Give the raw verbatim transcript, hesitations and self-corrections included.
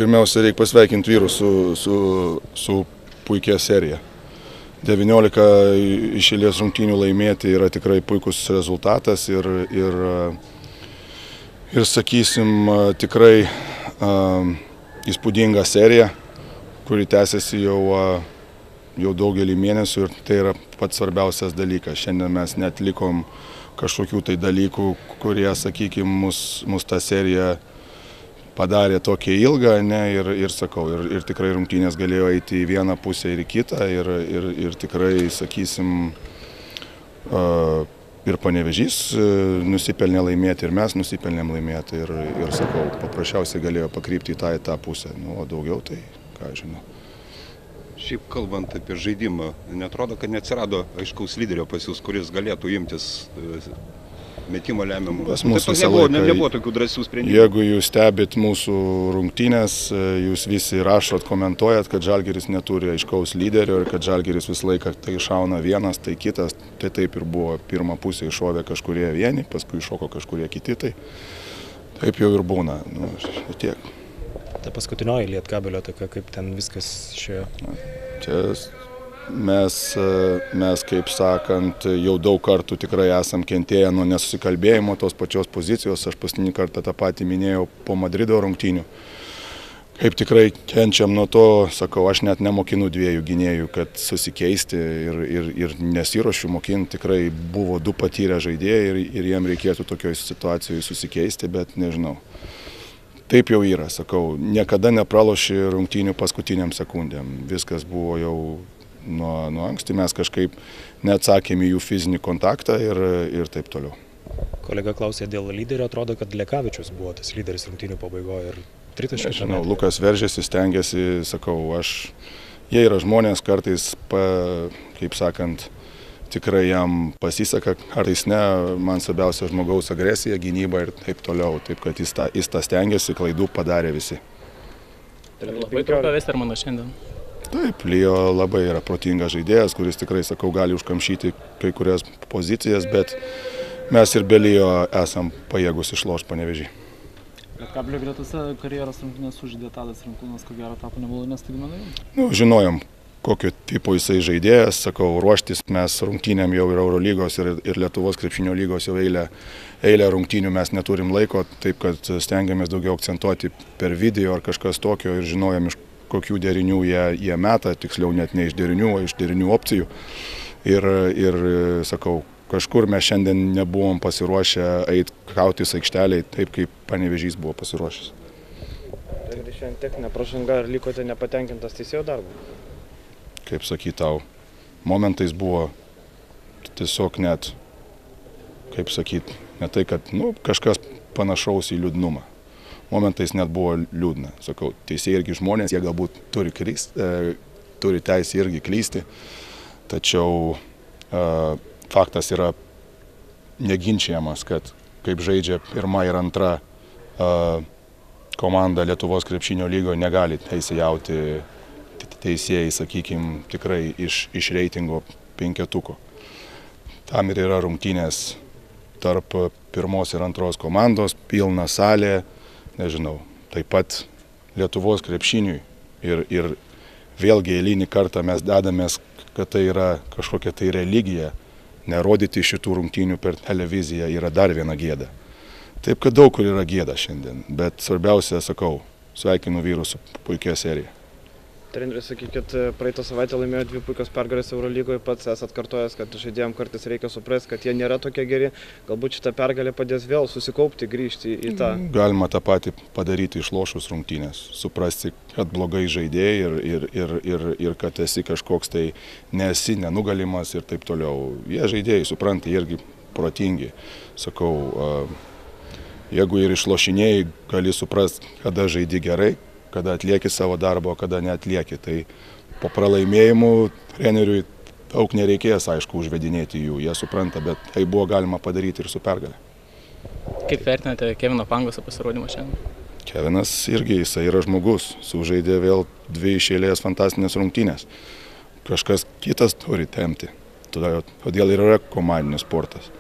Pirmiausia, reikia pasveikinti vyrus su, su, su puikia serija. devyniolika išėlės rungtynių laimėti yra tikrai puikus rezultatas ir, ir, ir sakysim, tikrai uh, įspūdinga serija, kuri tęsiasi jau, uh, jau daugelį mėnesių ir tai yra pats svarbiausias dalykas. Šiandien mes net likom kažkokių tai dalykų, kurie, sakykime, mus, mus tą seriją padarė tokia ilga, ne, ir, ir sakau, ir, ir tikrai rungtynės galėjo eiti į vieną pusę ir į kitą, ir, ir, ir tikrai, sakysim, uh, ir Panevėžys nusipelnė laimėti, ir mes nusipelnėm laimėti, ir, ir sakau, paprasčiausiai galėjo pakrypti į tą, į tą pusę, nu, o daugiau tai, ką žinau. Šiaip kalbant apie žaidimą, netrodo, kad neatsirado aiškaus lyderio pas jūs, kuris galėtų imtis metimo lemiamų. Pas mūsų visą nebuvo, laiką, nebuvo tokių drąsių sprendimų. Jeigu jūs stebit mūsų rungtynės, jūs visi rašot, komentuojat, kad Žalgiris neturi aiškaus lyderio ir kad Žalgiris visą laiką tai šauna vienas, tai kitas. Tai taip ir buvo. Pirmą pusę iššovė kažkurie vieni, paskui iššoko kažkurie kiti. Tai taip jau ir būna. Nu, tiek. Ta paskutinioji Lietkabelio tokia, kaip ten viskas šioje. Čia mes, mes, kaip sakant, jau daug kartų tikrai esam kentėję nuo nesusikalbėjimo tos pačios pozicijos. Aš paskutinį kartą tą patį minėjau po Madrido rungtynių. Kaip tikrai kenčiam nuo to, sakau, aš net nemokinu dviejų gynėjų, kad susikeisti ir, ir, ir nesiruošiu mokinti. Tikrai buvo du patyrę žaidėjai ir, ir jiem reikėtų tokioj situacijoje susikeisti, bet nežinau. Taip jau yra, sakau, niekada nepraloši rungtynių paskutiniam sekundėm. Viskas buvo jau nuo, nuo anksti, mes kažkaip neatsakėme į jų fizinį kontaktą ir, ir taip toliau. Kolega klausė dėl lyderio, atrodo, kad Lekavičius buvo tas lyderis rungtynių pabaigoje ir tritaškių. Žinau, Lukas veržėsi, stengiasi, sakau, aš, jie yra žmonės, kartais, pa, kaip sakant, tikrai jam pasiseka, kartais ne, man svarbiausia žmogaus agresija, gynyba ir taip toliau, taip kad jis tą, jis tą stengiasi, klaidų padarė visi. Tai labai trumpa Vestermano šiandien. Taip, Lijo labai yra protingas žaidėjas, kuris tikrai, sakau, gali užkamšyti kai kurias pozicijas, bet mes ir be Lijo esam pajėgus išlošti Panevėžį. Lietkabelio gretose karjeros rungtynės sužaidė Tadas Rimkūnas, ko gero tapo nemalonės staigmenai. Nu, žinojom, kokio tipo jisai žaidėjas, sakau, ruoštis mes rungtynėm jau ir Eurolygos ir, ir Lietuvos krepšinio lygos jau eilę, eilę rungtynių mes neturim laiko, taip kad stengiamės daugiau akcentuoti per video ar kažkas tokio ir žinojom, iš kokių derinių jie, jie meta, tiksliau net ne iš derinių, o iš derinių opcijų. Ir, ir sakau, kažkur mes šiandien nebuvom pasiruošę eiti kautis aikšteliai taip, kaip Panevėžys buvo pasiruošęs. Tai šiandien techninė pražanga, ar likote nepatenkintas teisėjo darbu? Kaip sakyt tau, momentais buvo tiesiog net, kaip sakyt, ne tai, kad nu, kažkas panašaus į liūdnumą. Momentais net buvo liūdna. Sakau, teisėjai irgi žmonės, jie galbūt turi, kryst, e, turi teisę irgi klysti, tačiau e, faktas yra neginčiamas, kad kaip žaidžia pirma ir antra e, komanda Lietuvos krepšinio lygoje negali teisėjauti teisėjai, sakykime, tikrai iš, iš reitingo penketuko. Tam ir yra rungtynės tarp pirmos ir antros komandos, pilna salė, nežinau, taip pat Lietuvos krepšiniui. Ir, ir vėlgi eilinį kartą mes dedamės, kad tai yra kažkokia tai religija. Nerodyti šitų rungtynių per televiziją yra dar viena gėda. Taip, kad daug kur yra gėda šiandien, bet svarbiausia, sakau, sveikinu vyrus su puikia serija. Treneris, sakykit, praeitą savaitę laimėjo dvi puikios pergalės Eurolygoje, pats esat kartojęs, kad žaidėjams kartais reikia suprasti, kad jie nėra tokie geri. Galbūt šitą pergalę padės vėl susikaupti, grįžti į tą. Galima tą patį padaryti išlošus rungtynės. Suprasti, kad blogai žaidėjai ir, ir, ir, ir, ir kad esi kažkoks tai nesi nenugalimas ir taip toliau. Jie žaidėjai, supranta, irgi protingi. Sakau, jeigu ir išlošinėjai, gali suprasti, kada žaidi gerai, kada atlieki savo darbą, kada neatlieki. Tai po pralaimėjimų treneriui daug nereikės, aišku, užvedinėti jų, jie supranta, bet tai buvo galima padaryti ir su pergalė. Kaip vertinate Kevino Pangoso pasirodymą šiandien? Kevinas irgi, jisai yra žmogus, sužaidė vėl dvi iš eilės fantastinės rungtynės. Kažkas kitas turi tempti, todėl ir yra komandinis sportas.